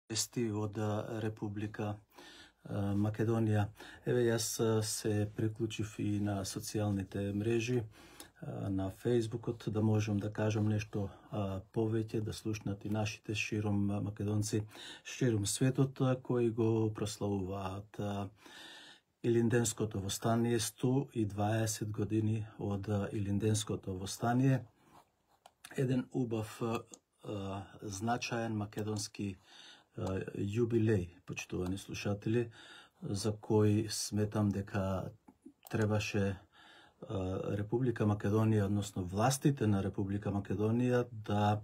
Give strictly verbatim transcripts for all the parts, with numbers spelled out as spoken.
вести од Република Македонија. Еве, јас се приклучив и на социјалните мрежи, на Фејсбукот, да можам да кажам нешто повеќе, да слушнат и нашите широм македонци, широм светот, кои го прославуваат Илинденското востание, сто и дваесет години од Илинденското востание. Еден убав, значаен македонски јубилеј, почитувани слушатели, за кој сметам дека требаше Република Македонија, односно властите на Република Македонија да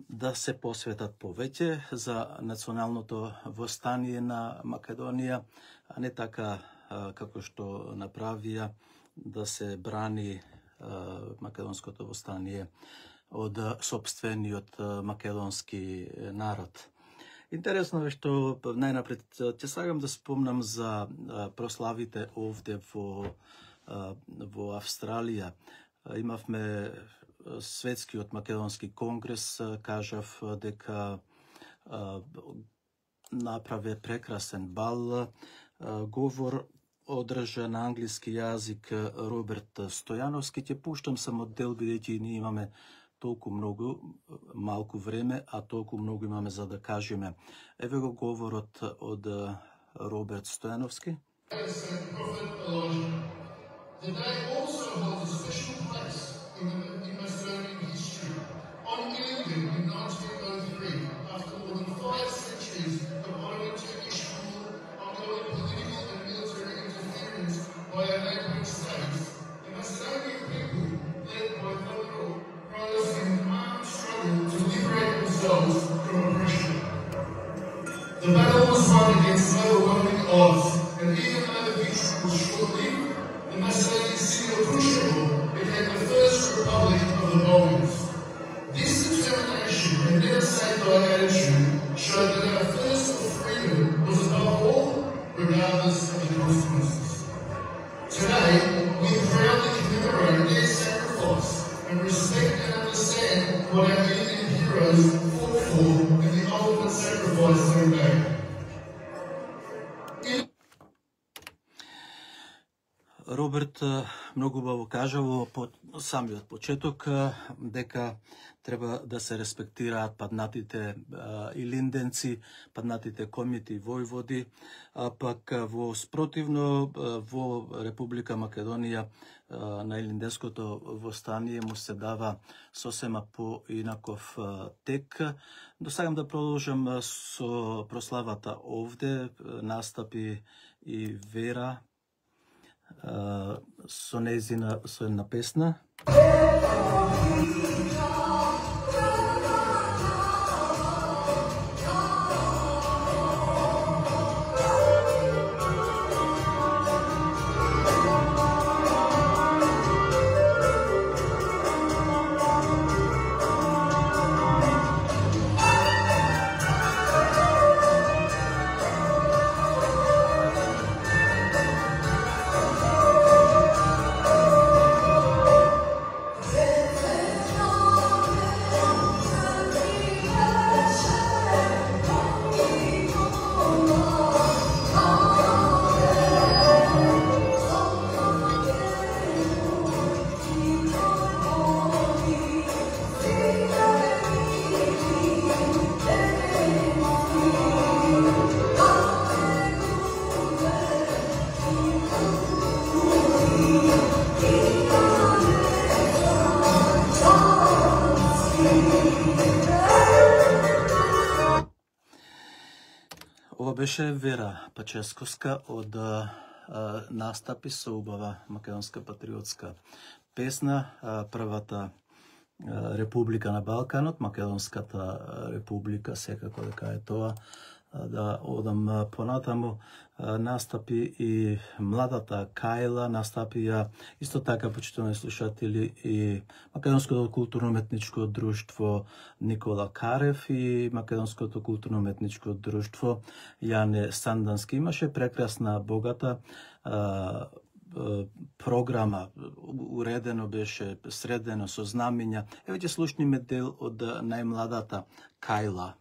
да се посветат повеќе за националното востание на Македонија, а не така како што направија да се брани македонското востание од сопствениот македонски народ. Интересно е што најнапред ќе сакам да спомнам за прославите овде во во Австралија. Имавме светскиот македонски конгрес, кажав дека направи прекрасен бал, говор одржа на англиски јазик Роберт Стојановски. Ќе пуштам само дел, бидејќи ние имаме толку многу, малку време, а толку многу имаме за да кажеме. Еве го говорот од Роберт Стојановски. The battle was won against overwhelming odds, and even though the victory was short-lived, the Macedonian city of Krushevo became the first republic of the Balkans. This determination and never-say-die attitude showed that our thirst for freedom was above all, regardless of the consequences. Today, we proudly commemorate their sacrifice and respect and understand what our Indian heroes fought for and the ultimate sacrifice they made. Роберт многу убаво кажа во самиот почеток дека треба да се респектираат паднатите илинденци, паднатите комити војводи, а пак во спротивно во Република Македонија на Илинденското востание му се дава сосема поинаков тек. Досагам да продолжам со прославата овде, настапи и Вера со нејзина со една песна. Ова беше Вера Паческовска од настапи со убава македонска патриотска песна, првата република на Балканот, Македонската република, секако дека е тоа. Да одам понатаму, настапи и младата Кајла, настапија исто така, почитувани слушатели, и Македонското културно-уметничко друштво Никола Карев и Македонското културно-уметничко друштво Јане Сандански. Имаше прекрасна, богата програма, уредено беше, средено со знамења. Еве ќе слушниме дел од најмладата Кајла.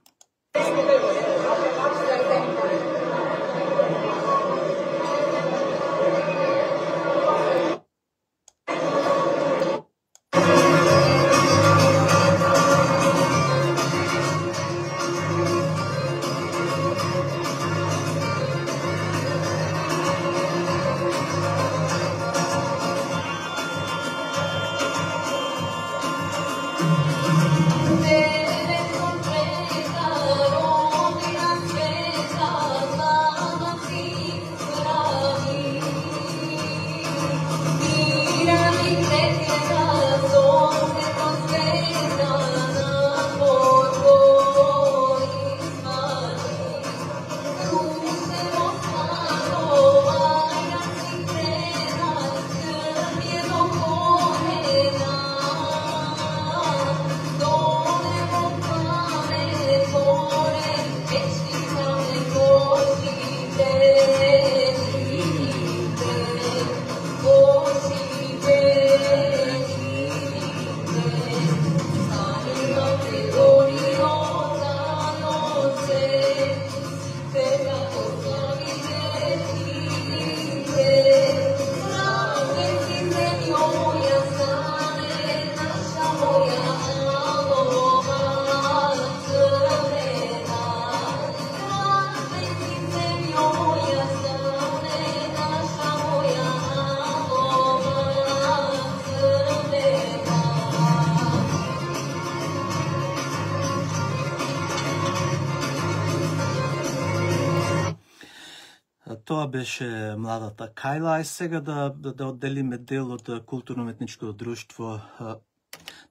Тоа беше младата Кајла, а сега да, да, да одделиме дел од културно-уметничкото друштво.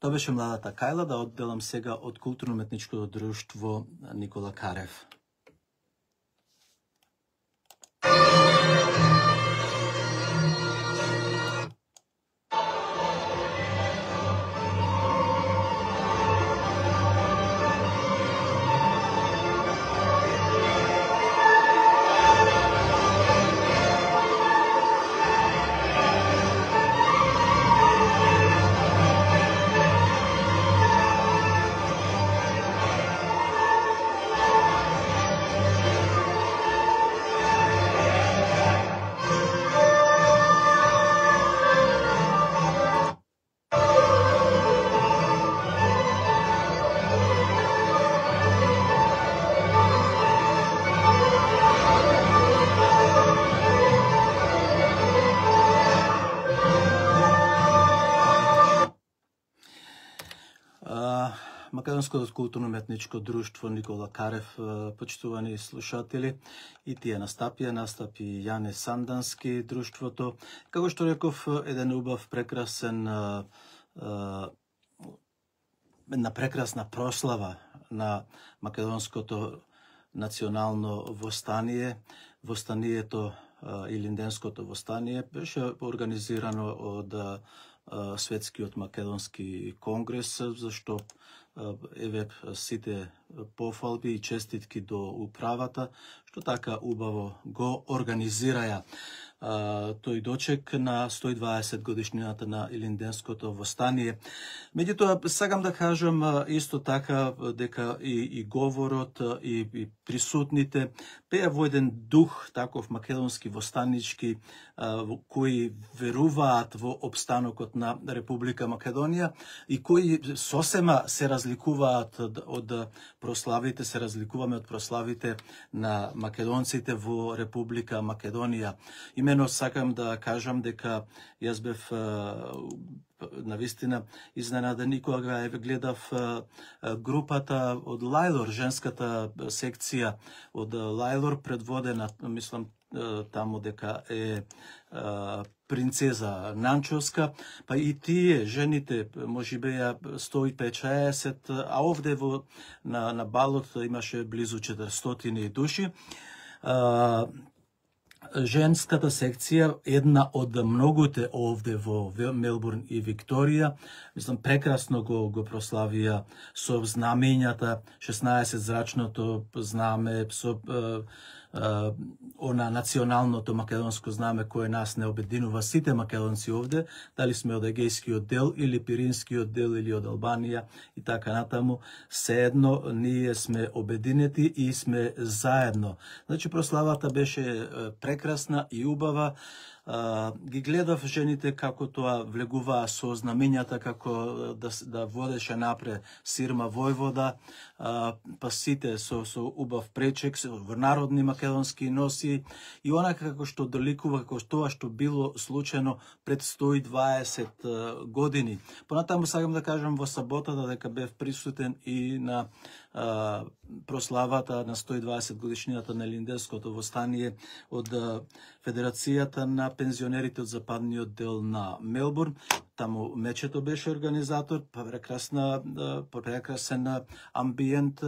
Тоа беше младата Кајла, да одделам сега од културно-уметничкото друштво Никола Карев. Македонското културно-уметничко друштво Никола Карев, почитувани слушатели, и тие настапија, настапи Јане Сандански друштвото. Како што реков, еден убав, прекрасен, една прекрасна прослава на македонското национално востание. Востанието, Илинденското востание, беше организирано од Светскиот македонски конгрес, зашто еве сите пофалби и честитки до управата, што така убаво го организираја тој дочек на сто и дваесет годишнината на Илинденското востание. Меѓутоа, сакам да кажам исто така дека и, и говорот и, и присутните пеа во еден дух таков македонски востанички, кои веруваат во обстанокот на Република Македонија и кои сосема се разликуваат од прославите, се разликуваме од прославите на македонците во Република Македонија. Имено сакам да кажам дека јас бев навистина изненаден и кога гледав групата од Лајлор, женската секција од Лајлор, предводена, мислам, таму дека е принцеза Нанчовска, па и тие жените може беа сто и петдесет, а овде во на, на балот имаше близу четиристотини души. Женската секција, една од многуте овде во Мелбурн и Викторија, мислам, прекрасно го, го прославија со знамењата, шеснаесет зрачното знаме, со она националното македонско знаме кое нас не обединува сите македонци овде, дали сме од Егејскиот дел или Пиринскиот дел или од Албанија и така натаму, sejedno ние сме обединети и сме заедно. Значи прославата беше прекрасна и убава. Uh, ги гледав жените како тоа влегуваа со знамењата, како да, да водеше напред Сирма војвода, uh, па сите со, со убав пречек, со народни македонски носи и онака како што доликува, како тоа што било случајно пред сто и дваесет uh, години. Понатаму сакам да кажам во саботата дека бев присутен и на uh, прославата на сто и дваесет годишнината на Илинденското востание од uh, Федерацијата на пензионерите од западниот дел на Мелбурн. Таму Мечето беше организатор, прекрасна, прекрасен амбиент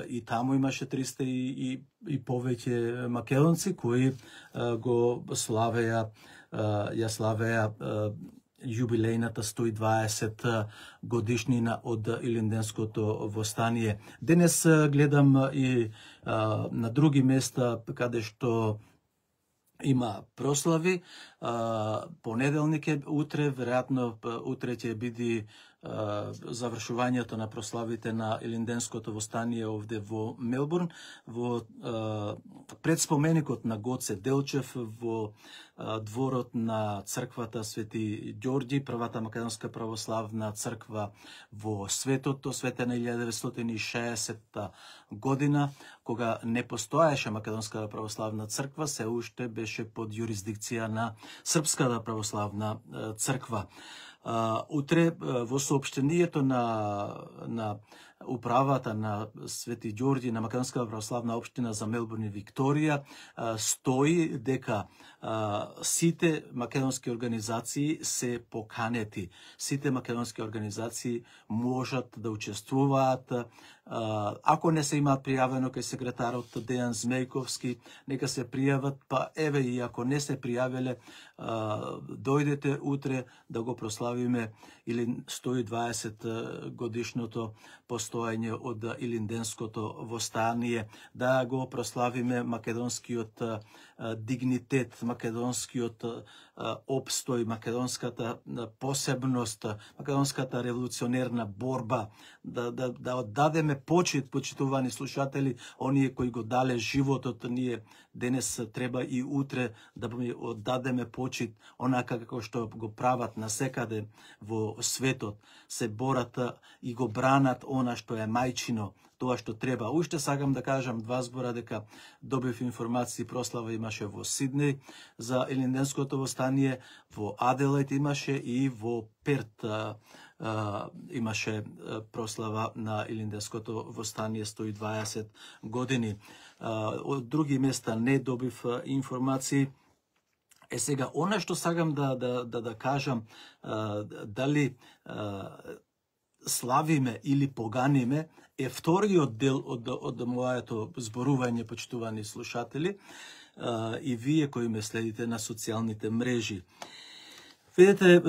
и таму имаше триста и, и, и повеќе македонци кои го славеа, ја славеа јубилејната сто и дваесет годишнина од Илинденското востание. Денес гледам и на други места каде што има прослави. Понеделник е утре, веројатно утре ќе биде завршувањето на прославите на Илинденското востание овде во Мелбурн, во предспоменикот на Гоце Делчев, во дворот на црквата Свети Ѓорѓи, првата македонска православна црква во светот, осветена илјада деветстотини и шеесетта година, кога не постоеше македонска православна црква, се уште беше под јурисдикција на Српската православна црква. Uh, утре uh, во соопштението на, на управата на Свети Ѓорѓи на Македонската православна општина за Мелбурн и Викторија uh, стои дека uh, сите македонски организации се поканети. Сите македонски организации можат да учествуваат. Uh, ако не се имаат пријавено кај секретарот Дејан Змејковски, нека се пријават, па еве и ако не се пријавиле, uh, дојдете утре да го прославиме или сто и дваесет годишното постоење од Илинденското востание, да го прославиме македонскиот uh, дигнитет, македонскиот uh, обстој, македонската посебност, македонската револуционерна борба, да, да, да оддадеме почит, почитувани слушатели, оние кои го дале животот, ние денес треба и утре да ми оддадеме почит, онака како што го прават насекаде во светот, се борат и го бранат она што е мајчино, тоа што треба. Уште сакам да кажам два збора дека добив информации, прослава имаше во Сиднеј за Илинденското востание, во Аделајд имаше и во Перт а, а, имаше прослава на Илинденското востание сто и дваесет години. А, од други места не добив информации. Е сега, она што сакам да, да, да, да кажам, а, дали а, славиме или поганиме, е вториот дел од, од моето зборување, почитувани слушатели, а, и вие кои ме следите на социјалните мрежи. Видете,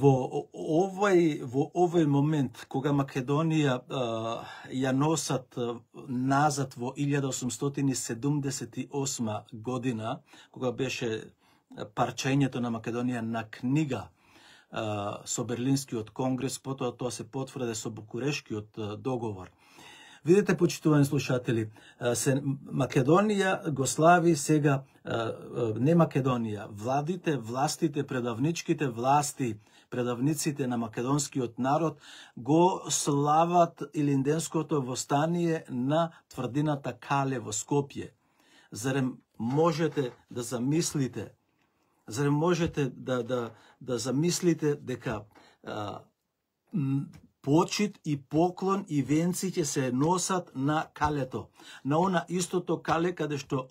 во овој, во овој момент, кога Македонија а, ја носат назад во илјада осумстотини седумдесет и осма година, кога беше парчењето на Македонија на книга а, со Берлинскиот конгрес, потоа тоа се потврди со Букурешкиот договор. Видете, почитувани слушатели, се Македонија го слави сега, не Македонија, владите, властите, предавничките власти, предавниците на македонскиот народ го слават Илинденското востание на тврдината Кале во Скопје. Зарем можете да замислите, зарем можете да, да, да замислите дека а, почит и поклон и венци ќе се носат на калето. На она истото кале каде што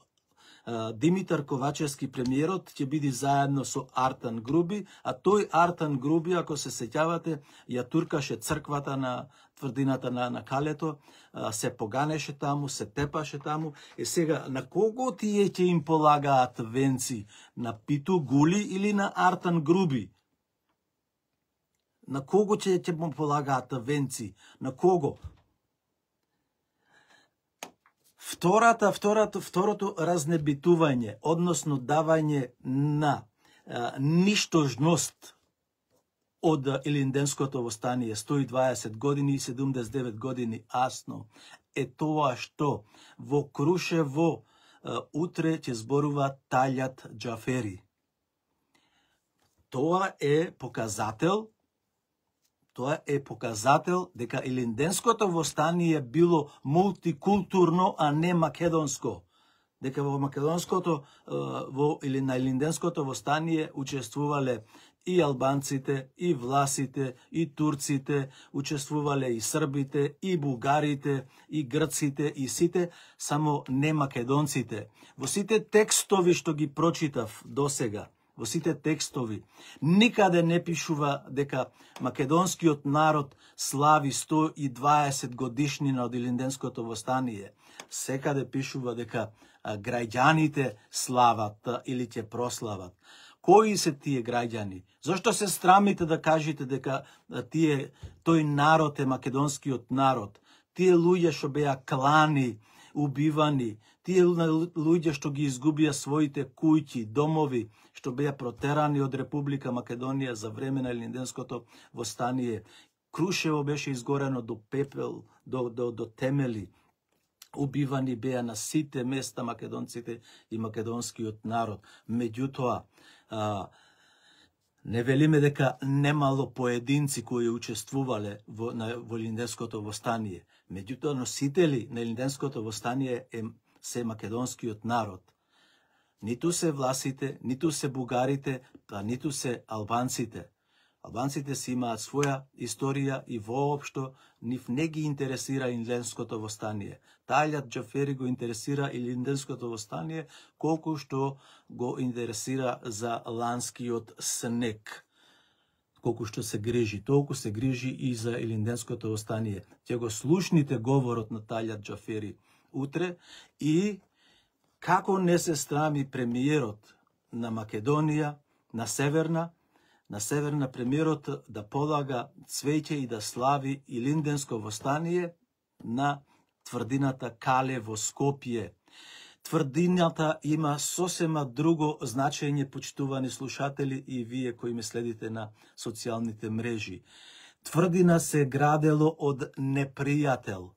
а, Димитар Ковачевски премиерот ќе биде заедно со Артан Груби, а тој Артан Груби, ако се сеќавате, ја туркаше црквата на тврдината на, на калето, а, се поганеше таму, се тепаше таму. Е сега, на кого тие ќе им полагаат венци? На Питу Гули или на Артан Груби? На кого ќе ќе му полагаат венци? На кого? Втората, второто, второто разнебитување, односно давање на а, ништожност од Илинденското востание, сто и дваесет години и седумдесет и девет години асно, е тоа што во Крушево а, утре ќе зборува Талјат Џафери. Тоа е показател Тоа е показател дека Илинденското востание било мултикултурно, а не македонско. Дека во македонското во или на Илинденското востание учествувале и албанците, и власите, и турците, учествувале и србите, и бугарите, и грците, и сите, само не македонците. Во сите текстови што ги прочитав досега, во сите текстови, никаде не пишува дека македонскиот народ слави сто и дваесет годишнина од Илинденското востание. Секаде пишува дека граѓаните слават или ќе прослават. Кои се тие граѓани? Зошто се срамите да кажете дека тие тој народ е македонскиот народ? Тие луѓе што беа клани, убивани, тие луѓе што ги изгубија своите куќи, домови, што беа протерани од Република Македонија за време на Илинденското востание. Крушево беше изгорено до пепел, до, до, до темели. Убивани беа на сите места македонците и македонскиот народ. Меѓутоа, а, не велиме дека немало поединци кои учествувале во, на, во Илинденското востание. Меѓутоа, носители на Илинденското востание е, се македонскиот народ. Ниту се власите, ниту се бугарите, па ниту се албанците. Албанците си имаат своја историја и воопшто нив не ги интересира Илинденското востание. Талјат Џафери го интересира Илинденското востание колку што го интересира за ланскиот снег. Колку што се грижи, толку се грижи и за Илинденското востание. Ќе го слушните говорот на Талјат Џафери утре и како не се срами премиерот на Македонија, на Северна, на Северна премиерот да полага цвеќе и да слави Илинденско востание на тврдината Кале во Скопје. Тврдината има сосема друго значење, почитувани слушатели и вие кои ме следите на социјалните мрежи. Тврдина се градело од непријател.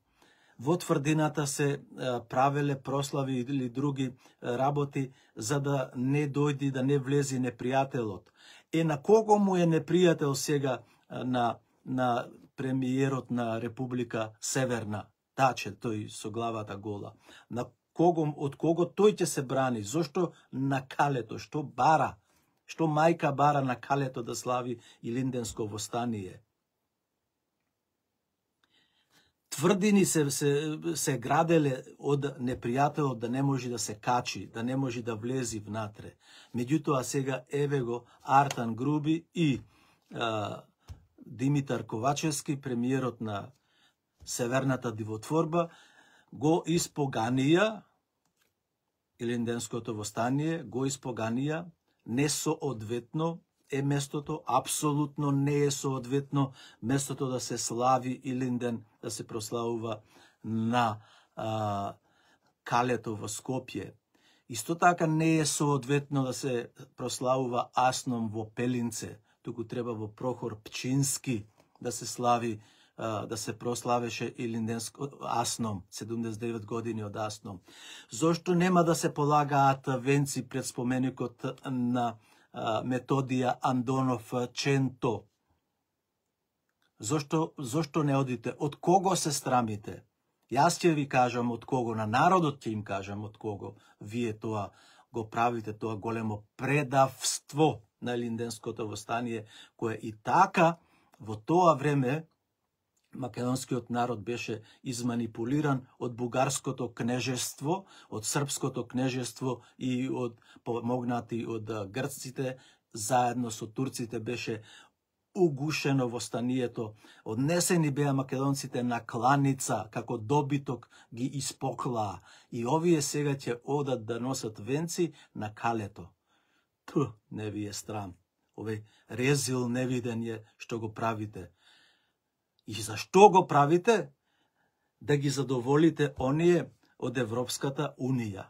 Во тврдината се правеле прослави или други работи за да не дојди, да не влези непријателот. Е, на кого му е непријател сега на, на премиерот на Република Северна? Таче, тој со главата гола. На кого, од кого тој ќе се брани? Зошто на Калето? Што бара? Што мајка бара на Калето да слави Илинденско востание? Тврдини се, се, се граделе од непријателот да не може да се качи, да не може да влези внатре. Меѓутоа сега еве го Артан Груби и а, Димитар Ковачевски, премиерот на Северната дивотворба, го испоганија Илинденското востание, го испоганија несоодветно е местото, апсолутно не е соодветно местото да се слави Илинден, да се прославува на а, Калето во Скопје. Исто така не е соодветно да се прославува Асном во Пелинце, туку треба во Прохор Пчински да се слави, а, да се прославеше Илинденско Асном, седумдесет и девет години од Асном. Зошто нема да се полагаат венци пред споменикот на Методија Андонов Ченто? Зошто, зошто не одите? Од кого се срамите? Јас ќе ви кажам од кого, на народот ќе им кажам од кого. Вие тоа го правите, тоа големо предавство на Илинденското востание, кое и така во тоа време македонскиот народ беше изманипулиран од бугарското кнежество, од српското кнежество и од помогнати од грците, заедно со турците беше угушено востанието. Однесени беа македонците на кланица, како добиток ги испоклаа. И овие сега ќе одат да носат венци на Калето. Пу, не ви е страм. Овој резил невиден е што го правите. И зашто го правите? Да ги задоволите оние од Европската Унија.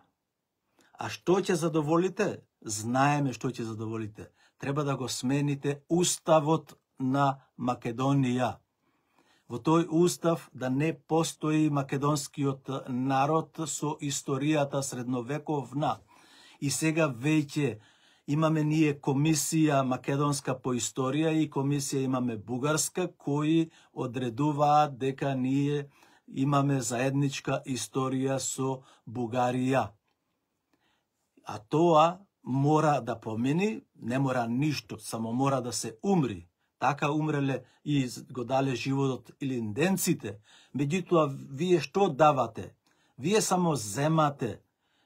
А што ќе задоволите? Знаеме што ќе задоволите. Треба да го смените уставот на Македонија. Во тој устав да не постои македонскиот народ со историјата средновековна. И сега веќе имаме ние комисија македонска по историја и комисија имаме бугарска, кои одредуваат дека ние имаме заедничка историја со Бугарија. А тоа мора да помени, не мора ништо, само мора да се умри. Така умреле и го дале животот илинденците. Меѓутоа, вие што давате? Вие само земате.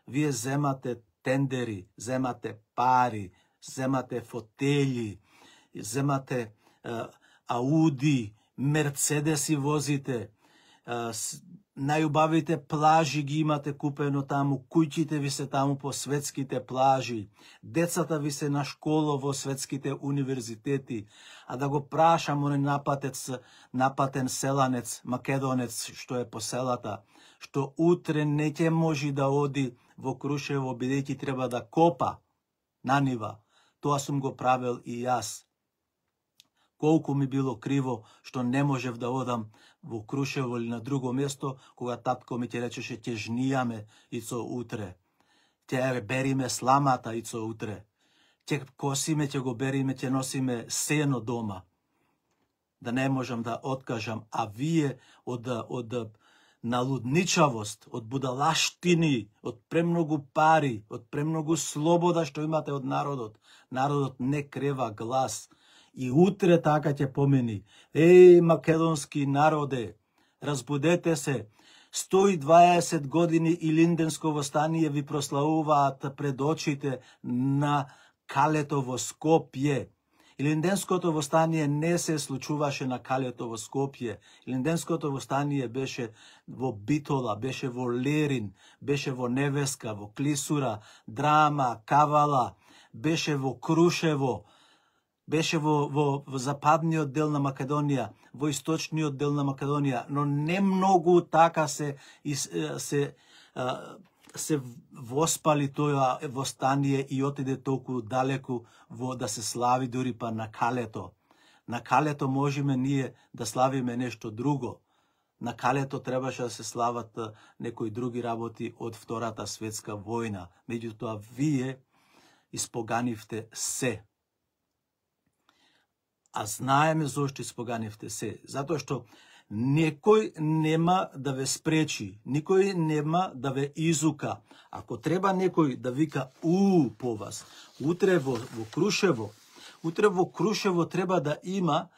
Вие земате тендери, земате пари, земате фотели, земате е, Ауди, Мерцедеси возите, е, најубавите плажи ги имате купено таму, куќите ви се таму по светските плажи, децата ви се на школа во светските универзитети, а да го прашам оној напатец, напатен селанец, македонец, што е по селата, што утре не ќе може да оди во Крушево, бидејќи треба да копа на нива. Тоа сум го правил и јас. Колку ми било криво што не можев да одам во Крушево или на друго место, кога татко ми ќе речеше ќе жнијаме ицо утре. Ќе бериме сламата ицо утре. Ќе косиме, ќе го бериме, ќе носиме сено дома. Да не можам да откажам, а вие од од налудничавост, од будалаштини, од премногу пари, од премногу слобода што имате од народот. Народот не крева глас. И утре така ќе помени. Еј, македонски народе, разбудете се. сто и дваесет години Илинденско востание ви прославуваат пред очите на калето во Скопје. Илинденското востание не се случуваше на калето во Скопје. Илинденското востание беше во Битола, беше во Лерин, беше во Невеска, во Клисура, Драма, Кавала, беше во Крушево, беше во, во, во западниот дел на Македонија, во источниот дел на Македонија, но не многу така се, се, се, се воспали тоа востание и отиде толку далеку во да се слави дури па на калето. На калето можеме ние да славиме нешто друго. На калето требаше да се слават некои други работи од Втората светска војна. Меѓутоа, вие испоганивте се. А знаеме зошто испоганивте се. Затоа што некој нема да ве спречи, никој нема да ве изука. Ако треба некој да вика у по вас, утре во, во Крушево, утре во Крушево треба да има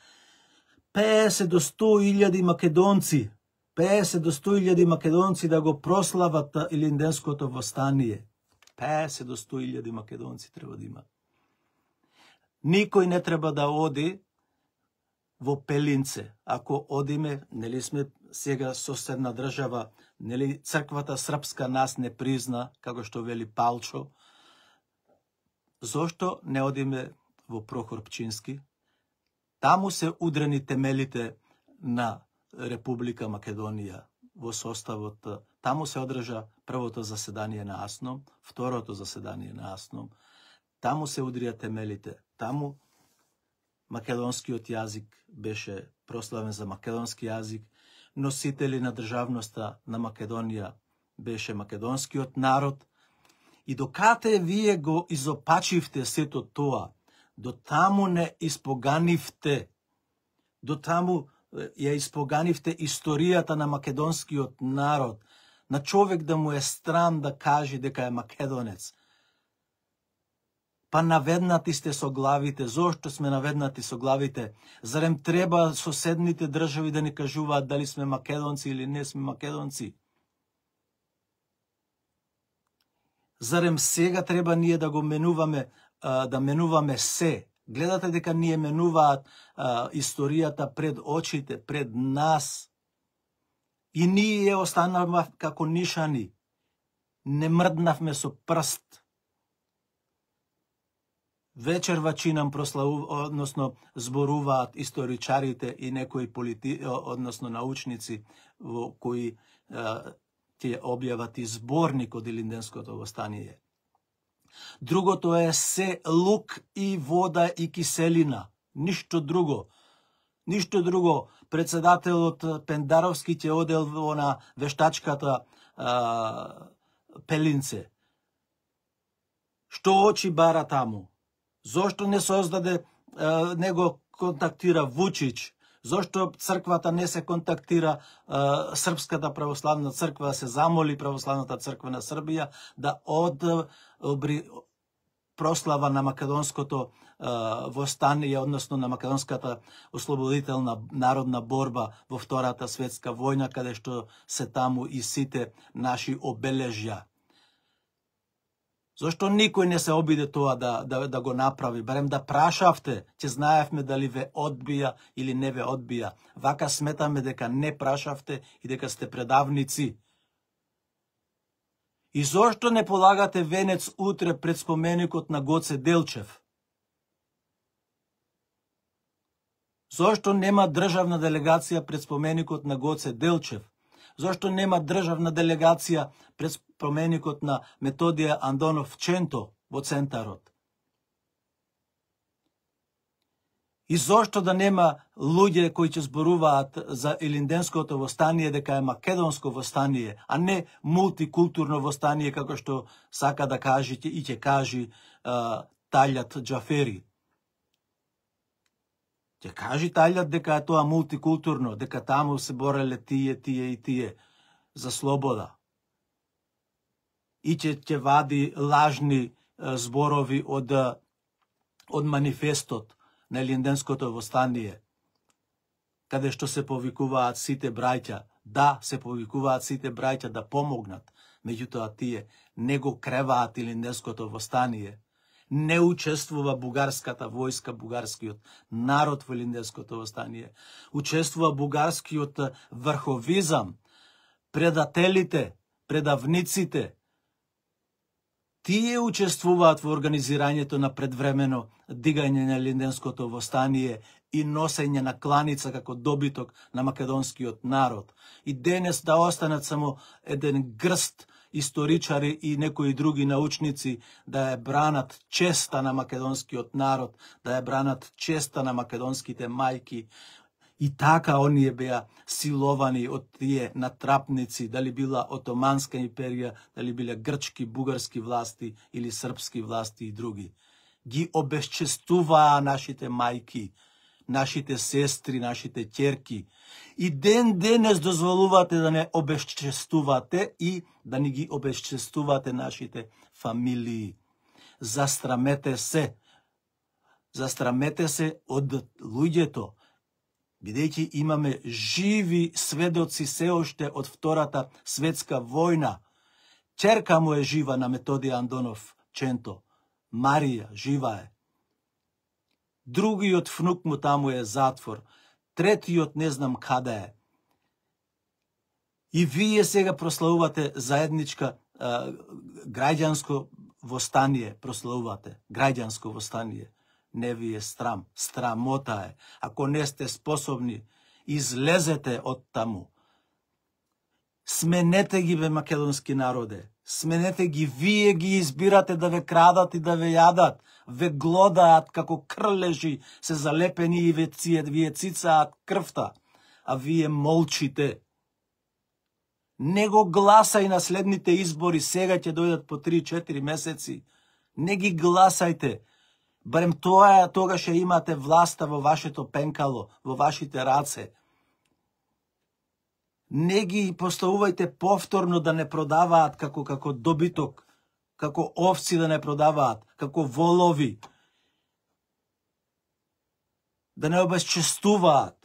песет до сто илјади македонци, песет до сто илјади македонци да го прослават Илинденското востание. песет до сто илјади македонци треба да има. Никој не треба да оди во Пелинце. Ако одиме, нели сме сега соседна држава, нели црквата српска нас не призна, како што вели Палчо. Зошто не одиме во Прохор Пчински? Таму се удрени темелите на Република Македонија во составот. Таму се одржа првото заседание на АСНОМ, второто заседание на АСНОМ. Таму се удрија темелите. Таму македонскиот јазик беше прославен за македонски јазик. Носители на државноста на Македонија беше македонскиот народ. И докате вие го изопачивте сето тоа, до таму не испоганивте, до таму ја испоганивте историјата на македонскиот народ, на човек да му е стран да каже дека е македонец. Па наведнати сте со главите. Зошто сме наведнати со главите? Зарем треба соседните држави да ни кажуваат дали сме македонци или не сме македонци? Зарем сега треба ние да го менуваме, да менуваме се? Гледате дека ние менуваат историјата пред очите, пред нас. И ние останавме како нишани. Не мрднавме со прст. Вечерва чинам прославу, односно зборуваат историчарите и некои полити, односно научници во кои е, ќе објават и зборник од Илинденското востание. Другото е се лук и вода и киселина. Ништо друго. Ништо друго. Председателот Пендаровски ќе одел на вештачката а, Пелинце. Што очи бара таму? Зошто не создаде, а, не го контактира Вучич? Зошто црквата не се контактира, а, Српската православна црква, се замоли Православната црква на Србија да одобри прослава на македонското а, востание, односно на македонската ослободителна народна борба во Втората светска војна, каде што се таму и сите наши обележја. Зошто никој не се обиде тоа да, да, да го направи? Барем да прашавте, ќе знаевме дали ве одбија или не ве одбија. Вака сметаме дека не прашавте и дека сте предавници. И зошто не полагате венец утре пред споменикот на Гоце Делчев? Зошто нема државна делегација пред споменикот на Гоце Делчев? Зошто нема државна делегација пред споменикот на Методија Андонов Ченто во центарот? И зошто да нема луѓе кои ќе зборуваат за Илинденското востание дека е македонско востание, а не мултикултурно востание, како што сака да каже и ќе кажи uh, Талјат Џафери. Ќе кажи Талјат дека е тоа мултикултурно, дека таму се бореле тие, тие и тие за слобода. И ќе ќе вади лажни uh, зборови од, uh, од манифестот на Илинденското востание, каде што се повикуваат сите браќа, да, се повикуваат сите браќа да помогнат, меѓутоа тие не го креваат Илинденското востание, не учествува бугарската војска, бугарскиот народ во Илинденското востание, учествува бугарскиот врховизам, предателите, предавниците, тие учествуваат во организирањето на предвремено дигање на Илинденското востание и носење на кланица како добиток на македонскиот народ. И денес да останат само еден грст историчари и некои други научници да ја бранат честа на македонскиот народ, да ја бранат честа на македонските мајки. И така оние беа силовани од тие натрапници, дали била Отоманска империја, дали биле грчки, бугарски власти или српски власти и други. Ги обесчестуваа нашите мајки, нашите сестри, нашите ќерки. И ден денес дозволувате да не обесчестувате и да не ги обесчестувате нашите фамилии. Застрамете се. Застрамете се од луѓето, бидејќи имаме живи сведоци се оште од Втората светска војна. Ќерка му е жива на Методија Андонов Ченто. Марија жива е. Другиот внук му таму е затвор. Третиот не знам каде е. И вие сега прославувате заедничка а, граѓанско востание. Прославувате граѓанско востание. Не ви е страм, страмота е. Ако не сте способни, излезете од таму. Сменете ги, бе, македонски народе. Сменете ги, вие ги избирате да ве крадат и да ве јадат. Ве глодаат како крлежи, се залепени и ве, вие цицаат крвта. А вие молчите. Не го гласај на следните избори, сега ќе дојдат по три-четири месеци. Не ги гласајте. Барем тоа е, тогаш ќе имате власта во вашето пенкало, во вашите раце. Не ги поставувајте повторно да не продаваат како како добиток, како овци да не продаваат, како волови. Да не обесчестуваат,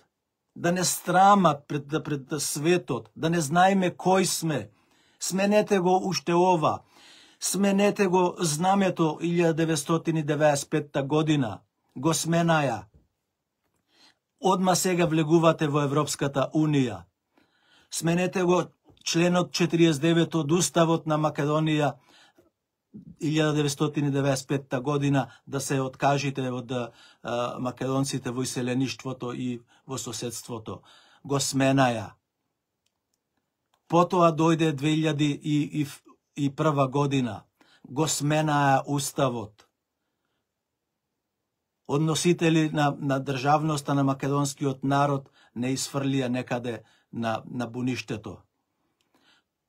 да не страмат пред, пред светот, да не знаеме кој сме. Сменете го уште ова. Сменете го знамето илјада деветстотини деветдесет и петта година. Го сменаја. Одма сега влегувате во Европската Унија. Сменете го членот четириесет и девет од Уставот на Македонија илјада деветстотини деветдесет и петта година, да се откажите од а, македонците во иселеништвото и во соседството. Го сменаја. Потоа дојде две илјади и прва година, го сменаа уставот. Односители на, на државноста на македонскиот народ не изфрлија некаде на, на буништето.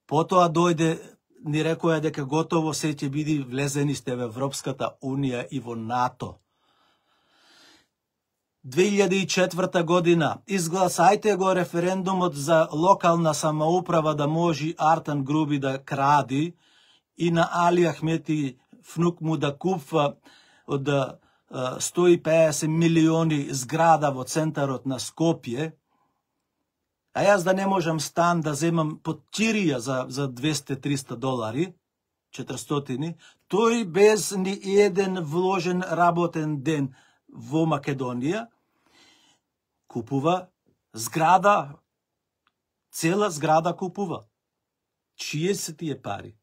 Потоа дојде, ни рекоја дека готово се ќе биде влезени сте во Европската унија и во НАТО. две илјади и четврта година изгласајте го референдумот за локална самоуправа да може Артан Груби да кради и на Али Ахмети внук му да купва од сто и песет милиони зграда во центарот на Скопје, а јас да не можам стан да земам под Тирија за, за двесте до триста долари, четиристотини, тој без ни еден вложен работен ден во Македонија, купува зграда, цела зграда купува. Чие се тие пари?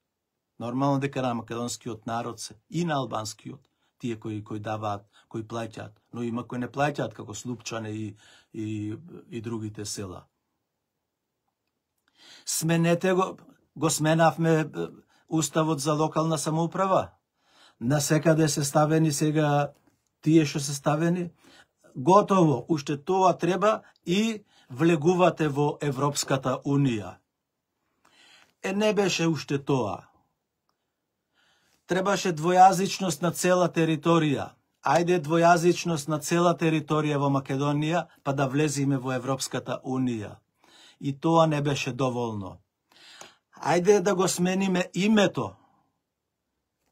Нормално дека на македонскиот народ се и на албанскиот, тие кои кои даваат, кои плаќаат, но има кои не плаќаат, како Слупчане и, и, и другите села. Сменете го, го сменавме уставот за локална самоуправа. Насекаде се ставени сега тие што се ставени. Готово, уште тоа треба и влегувате во Европската унија. Е, не беше уште тоа. Требаше двојазичност на цела територија. Ајде двојазичност на цела територија во Македонија, па да влезиме во Европската унија. И тоа не беше доволно. Ајде да го смениме името.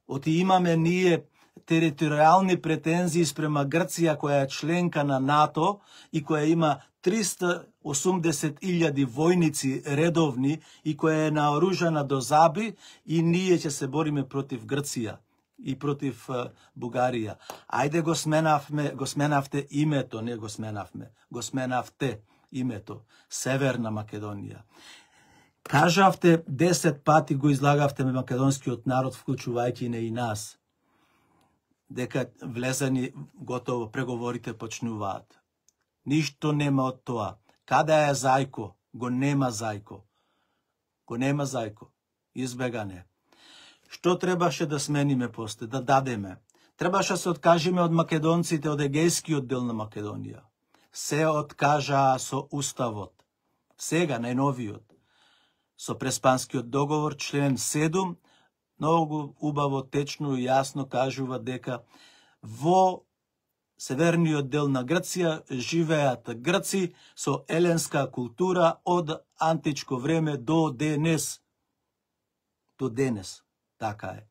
Оти имаме ние територијални претензии спрема Грција, која е членка на НАТО и која има триста и осумдесет илјади војници редовни и која е наоружана до заби, и ние ќе се бориме против Грција и против uh, Бугарија. Ајде го сменавме, го сменавте името, не го сменавме, го сменавте името, Северна Македонија. Кажавте десет пати, го излагавте македонскиот народ, вклучувајќи не и нас, дека влезани готово преговорите почнуваат. Ништо нема од тоа. Каде е Зајко? Го нема Зајко. Го нема Зајко. Избегане. Што требаше да смениме после, да дадеме? Требаше да се откажеме од македонците од егејскиот дел на Македонија. Се откажаа со уставот. Сега, најновиот. Со Преспанскиот договор, член седум, многу убаво, течно и јасно кажува дека во северниот дел на Грција живеат грци со еленска култура од античко време до денес. До денес. Така е.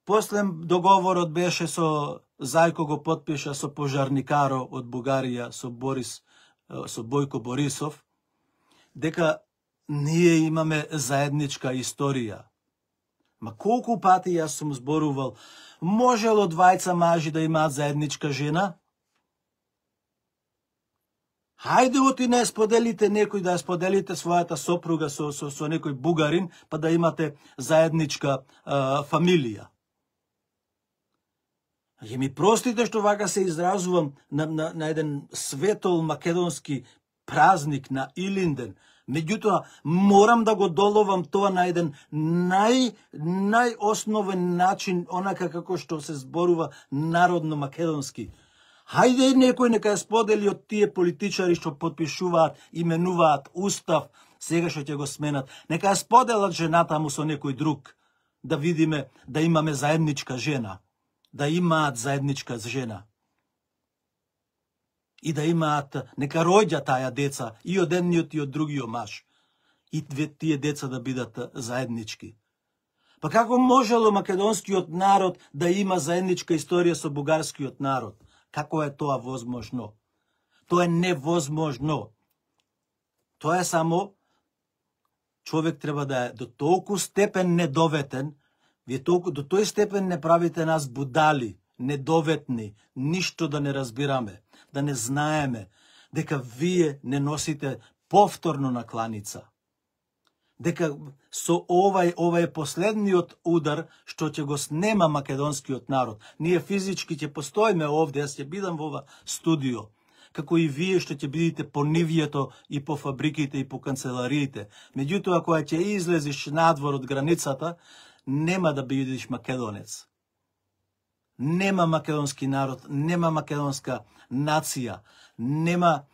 После договорот беше со Зајко го потпиша со пожарникаро од Бугарија, со Борис, со Бојко Борисов, дека ние имаме заедничка историја. Ма колку пати јас сум зборувал, можело двајца мажи да имаат заедничка жена? Хајде оти не споделите некој, да споделите својата сопруга со, со, со некој бугарин, па да имате заедничка а, фамилија. Ја ми простите што вака се изразувам на, на, на еден светол македонски празник на Илинден, меѓутоа морам да го доловам тоа на еден нај, најосновен начин, онака како што се зборува народно македонски. Хајде некој нека ја сподели од тие политичари што потпишуваат, именуваат устав, сега што ќе го сменат. Нека ја споделат жената му со некој друг, да видиме да имаме заедничка жена, да имаат заедничка жена. И да имаат, нека роѓа таја деца и од едниот и од другиот маж. И две тие деца да бидат заеднички. Па како можело македонскиот народ да има заедничка историја со бугарскиот народ? Како е тоа возможно? Тоа е невозможно. Тоа е само човек треба да е до толку степен недоветен, вие толку до тој степен не правите нас будали, недоветни, ништо да не разбираме, да не знаеме, дека вие не носите повторно на кланица. Дека со овај, овај последниот удар што ќе го снема македонскиот народ, ние физички ќе постоиме овде, јас ќе бидам во ова студио, како и вие што ќе бидете по нивјето и по фабриките и по канцелариите. Меѓутоа, кога ќе излезеш надвор од границата, нема да бидеш македонец. Нема македонски народ, нема македонска нација, нема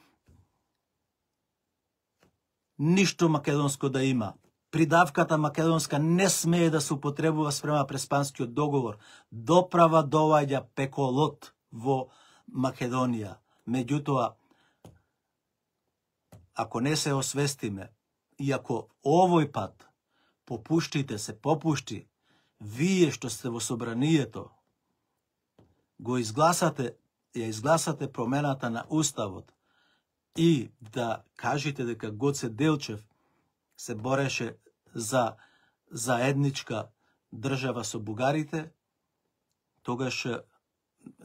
ништо македонско да има. Придавката македонска не смее да се употребува спрема Преспанскиот договор. Доправа доаѓа пеколот во Македонија. Меѓутоа, ако не се освестиме и ако овој пат попуштите се попушти, вие што сте во собранието, го изгласате, ја изгласате промената на Уставот и да кажете дека Гоце Делчев се бореше за заедничка држава со бугарите, тогаш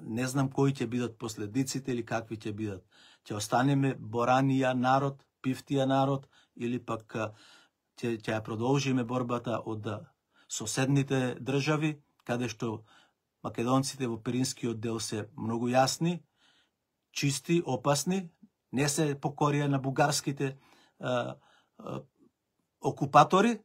не знам кои ќе бидат последиците или какви ќе бидат. Ќе останеме боранија народ, пифтија народ, или пак ќе ќе ја продолжиме борбата од соседните држави, каде што македонците во Пиринскиот дел се многу јасни, чисти, опасни, не се покорија на бугарските а, а, окупатори.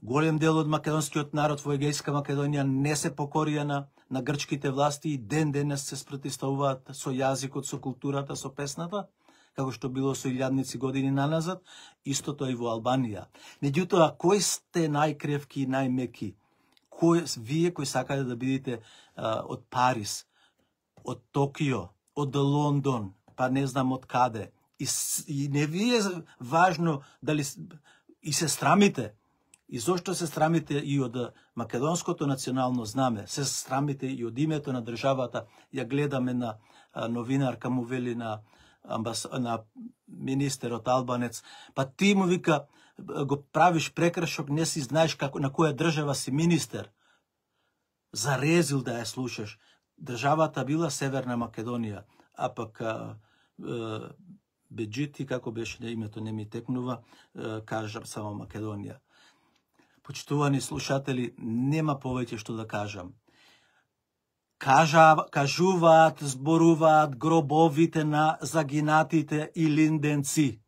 Голем дел од македонскиот народ во Егејска Македонија не се покорија на, на грчките власти и ден денес се спротивставуваат со јазикот, со културата, со песната, како што било со илјадници години наназад, истото и во Албанија. Меѓутоа, кои сте најкревки и најмеки? Кој, вие кои сакате да бидете а, од Париз, од Токио, од Лондон, па не знам од каде. И, и не ви е важно дали и се срамите. И зошто се срамите и од македонското национално знаме, се срамите и од името на државата. Ја гледаме на а, новинарка му вели на, амбас, на министерот албанец, па ти му вика, го правиш прекршок, не си знаеш како, на која држава си министер. Зарезил да ја слушаш. Државата била Северна Македонија, а пак а, а, Беџити, како беше на името, не ми текнува, а, кажам само Македонија. Почитувани слушатели, нема повеќе што да кажам. Кажа, кажуваат, зборуваат гробовите на загинатите илинденци.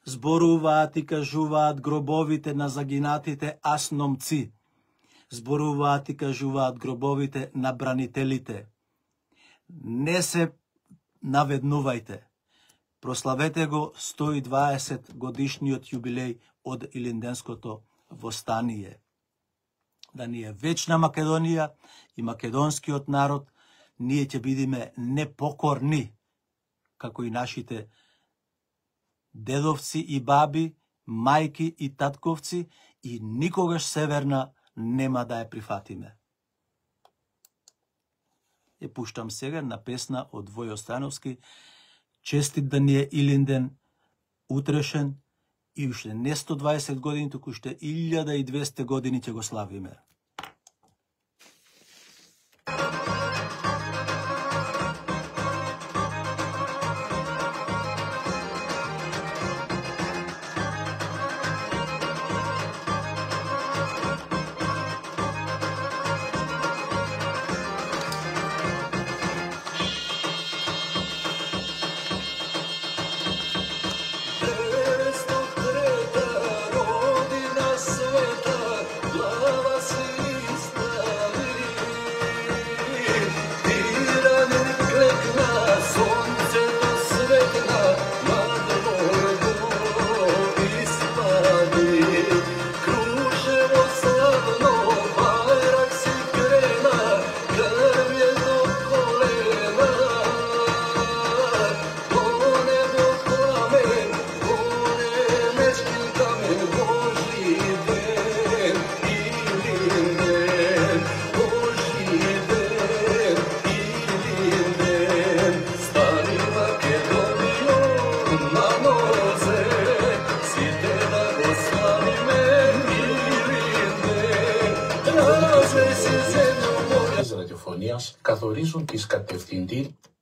Зборуваат и кажуваат гробовите на загинатите асномци. Зборуваат и кажуваат гробовите на бранителите. Не се наведнувајте. Прославете го сто и дваесет годишниот јубилеј од Илинденското востание. Да ни е вечна Македонија и македонскиот народ, ние ќе бидеме непокорни, како и нашите дедовци и баби, мајки и татковци, и никогаш Северна нема да ја прифатиме. Ја пуштам сега на песна од Војо Становски, честит да ни е Илинден, утрешен, и уште не сто и дваесет години, туку уште илјада и двесте години ќе го славиме. ραδιοφωνίας καθορίζουν τις κατευθυντήριες